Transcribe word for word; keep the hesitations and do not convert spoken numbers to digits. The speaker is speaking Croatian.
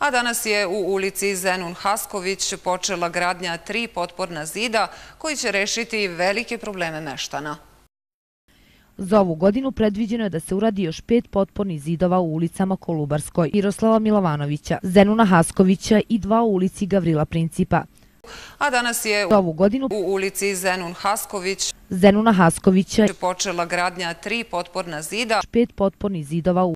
A danas je u ulici Zenun Hasković počela gradnja tri potporna zida koji će rešiti velike probleme meštana. Za ovu godinu predviđeno je da se uradi još pet potpornih zidova u ulicama Kolubarskoj, Miroslava Milovanovića, Zenuna Haskovića i dva u ulici Gavrila Principa. A danas je Za ovu godinu u ulici Zenun Hasković Zenuna Haskovića počela gradnja tri potporna zida. pet potpornih zidova u